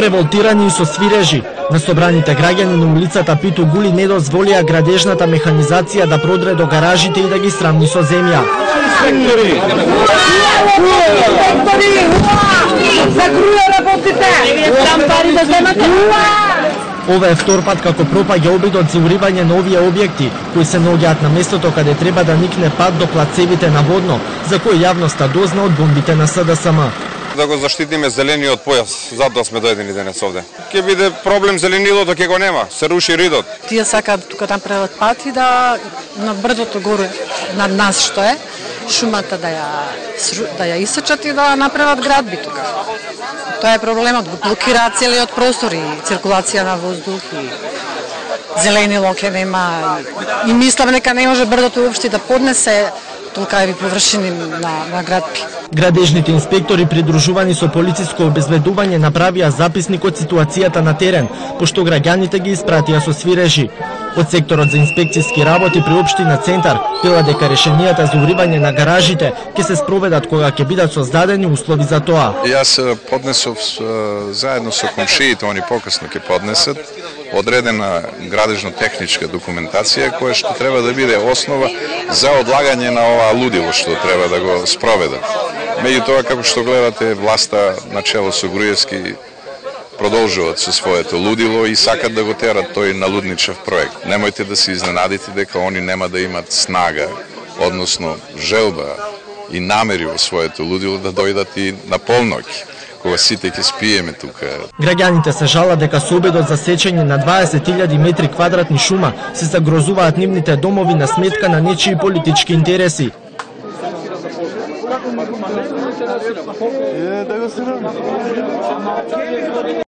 револтирани и со свирежи. На собраните граѓани на улицата Питу Гули не дозволија градежната механизација да продре до гаражите и да ги срамни со земја. Ова е втор пат како пропаѓа обидот за уривање на овие објекти, кои се наоѓаат на местото каде треба да никне пат до плацевите на Водно, за кој јавноста дозна од бомбите на СДСМ. Да го заштитиме зелениот појас, затоа сме дојдени денес овде. Ќе биде проблем зеленилото, ќе го нема, се руши ридот. Тие сакаат тука да направат пат и да на брдото горе над нас што е, шумата да ја исечат и да направат градби тука. Тоа е проблемот, блокираат целиот простор и циркулација на воздух и зеленило ќе нема и мислам дека не може брдото уопште да поднесе толкави површини на градби. Градежните инспектори придружувани со полициско обезбедување направија записник од ситуацијата на терен, пошто граѓаните ги испратија со свирежи. Од секторот за инспекцијски работи при општина Центар вела дека решенијата за уривање на гаражите ќе се спроведат кога ќе бидат создадени услови за тоа. Јас поднесов заедно со комшиите, они покасно ќе поднесат одредена градежно-техничка документација која што треба да биде основа за одлагање на ова лудило што треба да го спроведат. Меѓутоа, како што гледате, власта начело со Груевски продолжуваат со своето лудило и сакат да го терат тој налудничав проект. Немојте да се изненадите дека они нема да имат снага, односно желба и намери во своето лудило да дојдат и на полноќ, кога сите ќе спиеме тука. Граѓаните се жалат дека со обидот за сечење на 20.000 метри квадратни шума се загрозуваат нивните домови на сметка на нечии политички интереси.